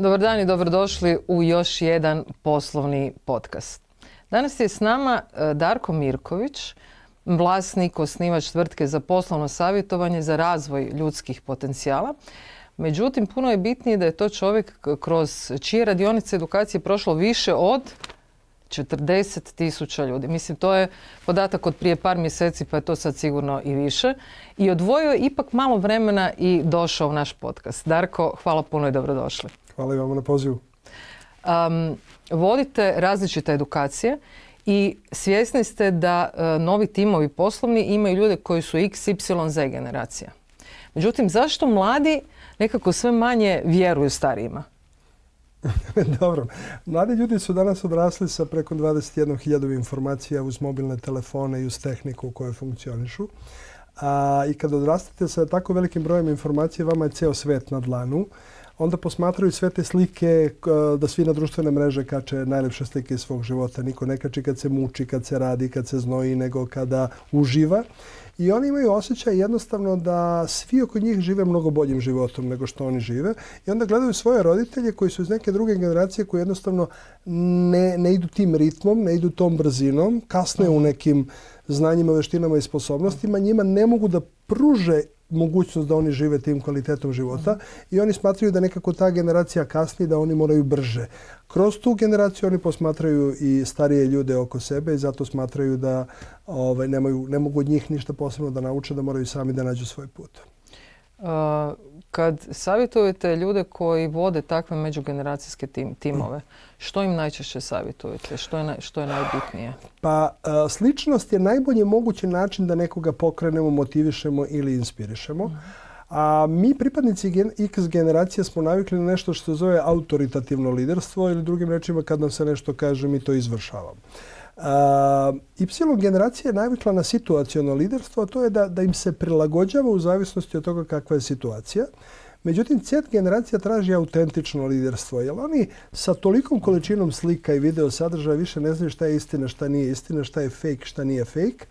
Dobar dan i dobrodošli u još jedan poslovni podcast. Danas je s nama Darko Mirković, vlasnik, osnivač tvrtke za poslovno savjetovanje za razvoj ljudskih potencijala. Međutim, puno je bitnije da je to čovjek kroz čije radionice edukacije prošlo više od 40.000 ljudi. Mislim, to je podatak od prije par mjeseci, pa je to sad sigurno i više. I odvojio je ipak malo vremena i došao u naš podcast. Darko, hvala puno i dobrodošli. Hvala i vama na pozivu. Vodite različite edukacije i svjesni ste da novi timovi poslovni imaju ljude koji su X, Y, Z generacija. Međutim, zašto mladi nekako sve manje vjeruju starijima? Dobro. Mladi ljudi su danas odrasli sa preko 21.000 informacija uz mobilne telefone i uz tehniku u kojoj funkcionišu. I kad odrastate sa tako velikim brojem informacija, vama je ceo svet na dlanu. Onda posmatraju sve te slike da svi na društvene mreže kače najlepše slike iz svog života. Niko ne kači kad se muči, kad se radi, kad se znoji, nego kada uživa. I oni imaju osjećaj jednostavno da svi oko njih žive mnogo boljim životom nego što oni žive. I onda gledaju svoje roditelje koji su iz neke druge generacije koji jednostavno ne idu tim ritmom, ne idu tom brzinom, kasne u nekim znanjima, veštinama i sposobnostima. Njima ne mogu da pruže mogućnost da oni žive tim kvalitetom života i oni smatraju da nekako ta generacija kasni, da oni moraju brže. Kroz tu generaciju oni posmatraju i starije ljude oko sebe i zato smatraju da ne mogu od njih ništa posebno da nauče, da moraju sami da nađu svoj put. Kad savjetujete ljude koji vode takve međugeneracijske timove, što im najčešće savjetujete? Što je najbitnije? Pa sličnost je najbolji mogući način da nekoga pokrenemo, motivišemo ili inspirišemo. A mi pripadnici X generacije smo navikli na nešto što se zove autoritativno liderstvo ili drugim rečima kad nam se nešto kaže mi to izvršavamo. Y generacija je navikla na situaciono liderstvo, a to je da im se prilagođava u zavisnosti od toga kakva je situacija. Međutim, Z generacija traži autentično liderstvo, jer oni sa tolikom količinom slika i video sadržaja više ne znaju šta je istina, šta nije istina, šta je fake, šta nije fake.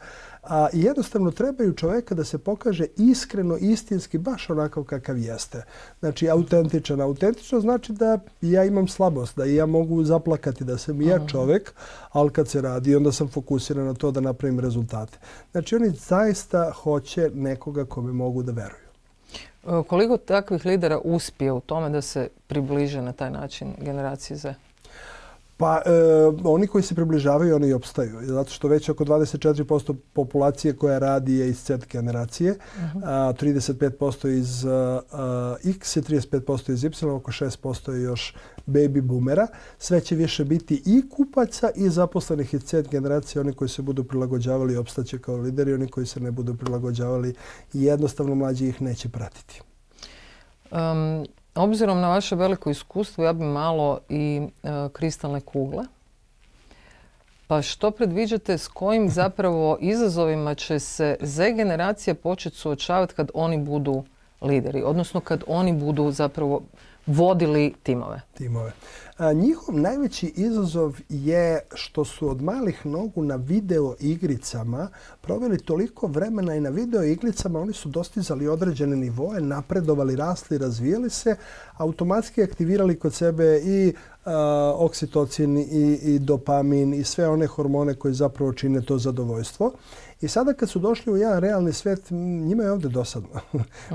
I jednostavno trebaju čovjeka da se pokaže iskreno, istinski, baš onakav kakav jeste. Znači, autentičan. Autentično znači da ja imam slabost, da ja mogu zaplakati, da sam i ja čovjek, ali kad se radi, onda sam fokusiran na to da napravim rezultate. Znači, oni zaista hoće nekoga kome mogu da veruju. Koliko takvih lidera uspije u tome da se približe na taj način generaciji Z? Pa oni koji se približavaju, oni i opstaju. Zato što već oko 24% populacije koja radi je iz Z generacije, 35% iz X i 35% iz Y, oko 6% je još baby boomera. Sve će više biti i kupaca i zaposlenih iz Z generacije. Oni koji se budu prilagođavali opstaće kao lideri, oni koji se ne budu prilagođavali jednostavno mlađi ih neće pratiti. Obzirom na vaše veliko iskustvo, ja bi malo i kristalne kugle. Pa što predviđate, s kojim zapravo izazovima će se Z generacija početi suočavati kad oni budu lideri, odnosno kad oni budu zapravo vodili timove? Njihov najveći izazov je što su od malih nogu na video igricama proveli toliko vremena i na video igricama oni su dostizali određene nivoe, napredovali, rasli, razvijali se, automatski aktivirali kod sebe i oksitocin i dopamin i sve one hormone koji zapravo čine to zadovoljstvo. I sada kad su došli u jedan realni svijet, njima je ovdje dosadno.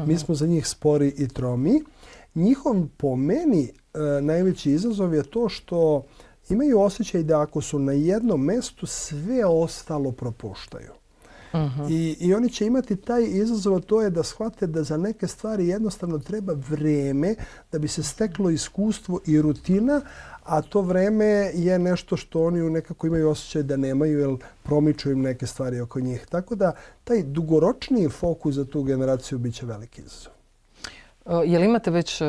Mi smo za njih spori i tromi. Njihov, po meni, najveći izazov je to što imaju osjećaj da ako su na jednom mjestu, sve ostalo propuštaju. I oni će imati taj izazov, to je da shvate da za neke stvari jednostavno treba vrijeme da bi se steklo iskustvo i rutina, a to vreme je nešto što oni nekako imaju osjećaj da nemaju, jer promiču im neke stvari oko njih. Tako da taj dugoročniji fokus za tu generaciju bit će veliki izazov. Je li imate već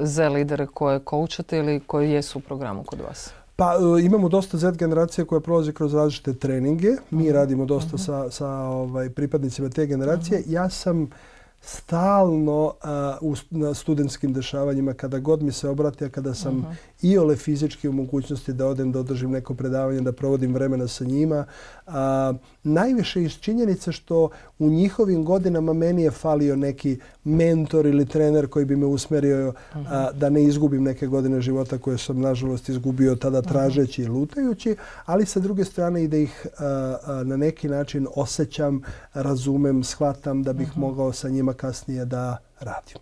Z lidere koje koučate ili koji jesu u programu kod vas? Pa imamo dosta Z generacije koja prolazi kroz različite treninge. Mi radimo dosta sa pripadnicima te generacije. Ja sam stalno na studentskim dešavanjima, kada god mi se obrati, a kada sam iole fizički u mogućnosti da odem, da održim neko predavanje, da provodim vremena sa njima. Najviše iz činjenice što u njihovim godinama meni je falio neki mentor ili trener koji bi me usmjerio da ne izgubim neke godine života koje sam nažalost izgubio tada tražeći i lutajući, ali sa druge strane i da ih na neki način osjećam, razumem, shvatam da bih mogao sa njima kasnije da radim.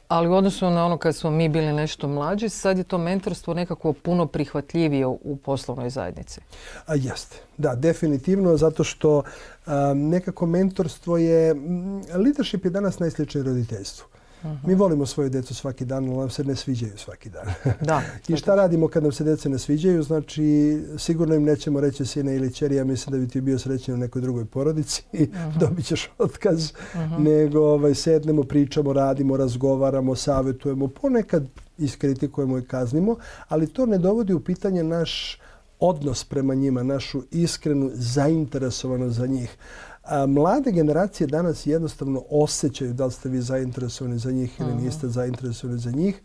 Ali u odnosu na ono kad smo mi bili nešto mlađi, sad je to mentorstvo nekako puno prihvatljivije u poslovnoj zajednici. Jeste, da, definitivno, zato što nekako mentorstvo je, leadership je danas najsličniji roditeljstvu. Mi volimo svoju djecu svaki dan, ali nam se ne sviđaju svaki dan. Da, I šta radimo kad nam se djece ne sviđaju? Znači, sigurno im nećemo reći sine ili ćeri, ja mislim da bi ti bio srećen u nekoj drugoj porodici i dobit ćeš otkaz. Nego sednemo, pričamo, radimo, razgovaramo, savjetujemo, ponekad iskritikujemo i kaznimo, ali to ne dovodi u pitanje naš odnos prema njima, našu iskrenu zainteresovanost za njih. Mlade generacije danas jednostavno osjećaju da li ste vi zainteresovani za njih ili niste zainteresovani za njih.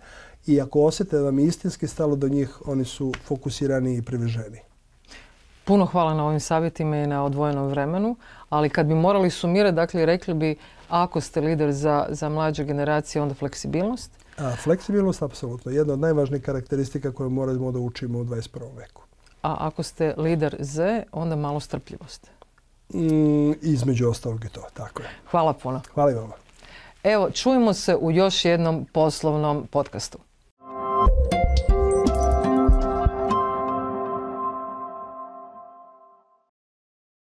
I ako osjete da vam je istinski stalo do njih, oni su fokusirani i priveženi. Puno hvala na ovim savjetima i na odvojenom vremenu, ali kad bi morali sumirati, dakle, rekli bi ako ste lider za mlađe generacije, onda fleksibilnost? Fleksibilnost, apsolutno. Jedna od najvažnijih karakteristika koje moramo da učimo u 21. veku. A ako ste lider Z, onda malo strpljivost. Između ostalog i to, tako je. Hvala puno. Hvala i vama. Evo, čujemo se u još jednom poslovnom podcastu.